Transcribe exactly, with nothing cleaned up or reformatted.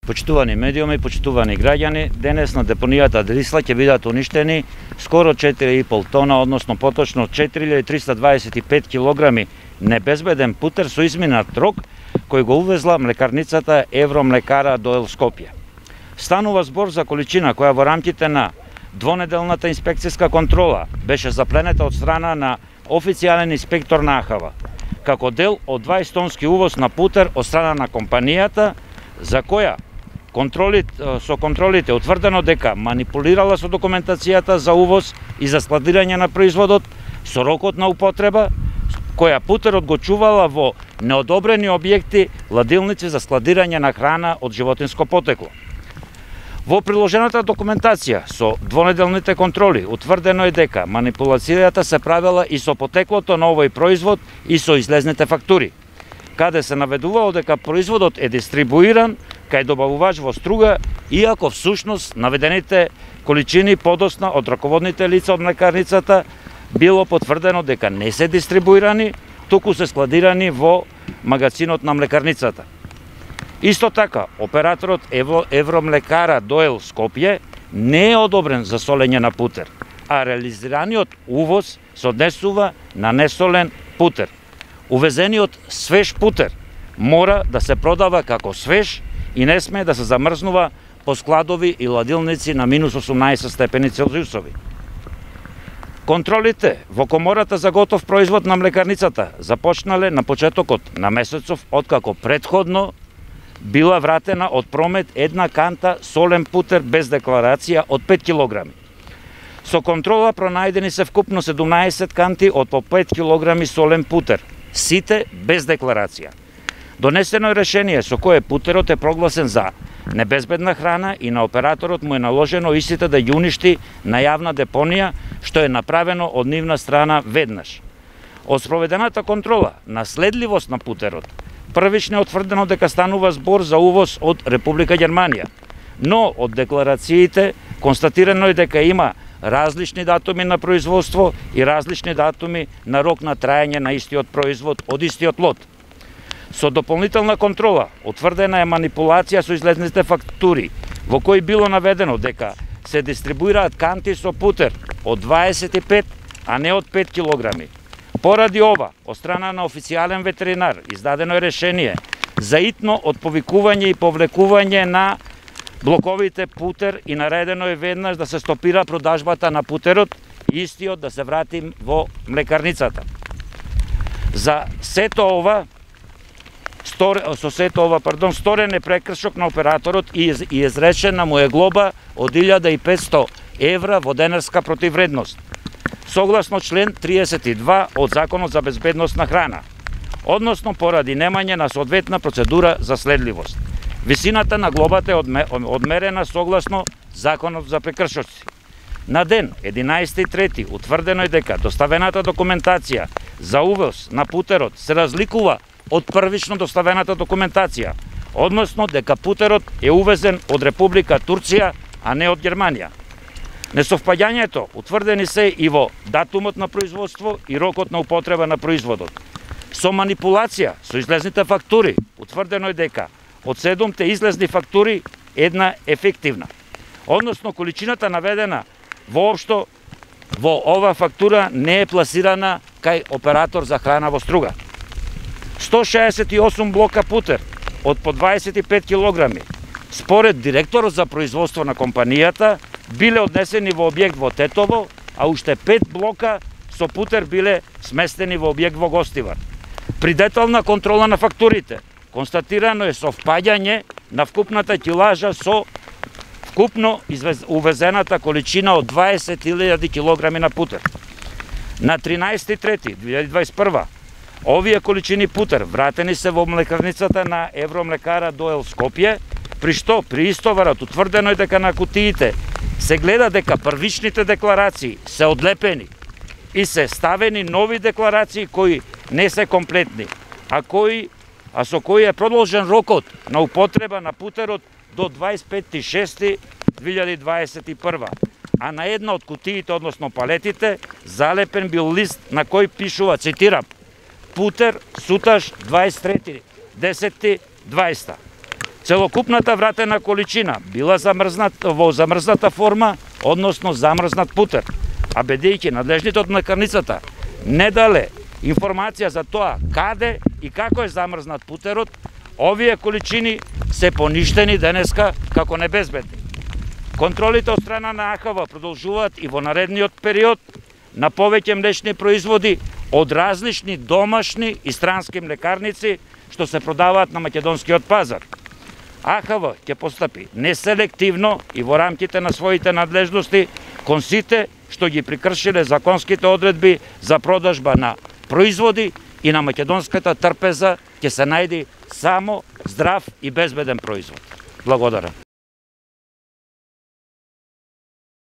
Почитувани медиуми, почитувани граѓани, денес на депонијата Дрисла ќе бидат уништени скоро четири и пол тона, односно поточно четири илјади триста дваесет и пет килограми небезбеден путер со изминат рок кој го увезла млекарницата Евромлекара Доел Скопје. Станува збор за количина која во рамките на двонеделната инспекцијска контрола беше запленета од страна на официјален инспектор на АХАВА, како дел од дваесет тонски увоз на путер од страна на компанијата, за која контролите, со контролите утврдено дека манипулирала со документацијата за увоз и за складирање на производот, со рокот на употреба, која путерот го чувала во неодобрени објекти, ладилници за складирање на храна од животинско потекло. Во приложената документација со двонеделните контроли утврдено е дека манипулацијата се правела и со потеклото на овој производ и со излезните фактури, каде се наведувало дека производот е дистрибуиран кај добавувач во Струга, иако всушност наведените количини подосна од раководните лица од млекарницата било потврдено дека не се дистрибуирани, туку се складирани во магазинот на млекарницата. Исто така, операторот Евромлекара Доел Скопје не е одобрен за солење на путер, а реализираниот увоз се однесува на несолен путер. Увезениот свеж путер мора да се продава како свеж и не сме да се замрзнува по складови и ладилници на минус осумнаесет степени Целзиусови. Контролите во комората за готов производ на млекарницата започнале на почетокот на месецов, откако претходно била вратена од промет една канта солен путер без декларација од пет килограми. Со контрола пронајдени се вкупно седумнаесет канти од по пет килограми солен путер, сите без декларација. Донесено е решение со кое путерот е прогласен за небезбедна храна и на операторот му е наложено истите да ја уништи на јавна депонија, што е направено од нивна страна веднаш. Од спроведената контрола на следливост на путерот, првично е утврдено дека станува збор за увоз од Република Германија, но од декларациите констатирано е дека има различни датуми на производство и различни датуми на рок на траење на истиот производ од истиот лот. Со дополнителна контрола утврдена е манипулација со излезните фактури, во кои било наведено дека се дистрибуираат канти со путер од дваесет и пет, а не од пет килограми. Поради ова, од страна на официјален ветеринар, издадено е решение за итно отповикување и повлекување на блоковите путер и наредено е веднаш да се стопира продажбата на путерот и истиот да се врати во млекарницата. За сето ова, со сето ова, пардон, сторен е прекршок на операторот и изречена му е глоба од илјада и петсто евра во денарска противвредност, согласно член триесет и два од Законот за безбедност на храна, односно поради немање на соодветна процедура за следливост. Висината на глобата е одмерена согласно Законот за прекршоци. На ден единаесети трети утврдено е дека доставената документација за увоз на путерот се разликува од првично доставената документација, односно дека путерот е увезен од Република Турција, а не од Германија. Несовпаѓањето утврдени се и во датумот на производство и рокот на употреба на производот. Со манипулација со излезните фактури утврдено е дека од седумте излезни фактури една ефективна, односно количината наведена воопшто во ова фактура не е пласирана кај оператор за храна во Струга. сто шеесет и осум блока путер од по дваесет и пет килограми, според директорот за производство на компанијата, биле однесени во објект во Тетово, а уште пет блока со путер биле сместени во објект во Гостивар. При детална контрола на фактурите констатирано е совпаѓање на вкупната килажа со вкупно увезената количина од дваесет илјади килограми на путер. На тринаесети трети две илјади дваесет и прва овие количини путер вратени се во млекарницата на Евромлекара Доел Скопје, при што при истоварот утврдено е дека на кутиите се гледа дека првичните декларации се одлепени и се ставени нови декларации кои не се комплетни, а кои а со кои е продолжен рокот на употреба на путерот до дваесет и пети шести две илјади дваесет и прва. А на една од кутиите, односно палетите, залепен бил лист на кој пишува, цитирам, путер суташ дваесет и трети десети дваесета. Целокупната вратена количина била замрзната во замрзната форма, односно замрзнат путер, а бидејќи надлежните од млекарницата не дале информација за тоа каде и како е замрзнат путерот, овие количини се поништени денеска како небезбедни. Контролите од страна на А Х В продолжуваат и во наредниот период на повеќе млечни производи од различни домашни и странски млекарници што се продаваат на македонскиот пазар. А Х В ќе постапи неселективно и во рамките на своите надлежности кон сите што ги прекршиле законските одредби за продажба на производи и на македонската трпеза ќе се најди само здрав и безбеден производ. Благодарам.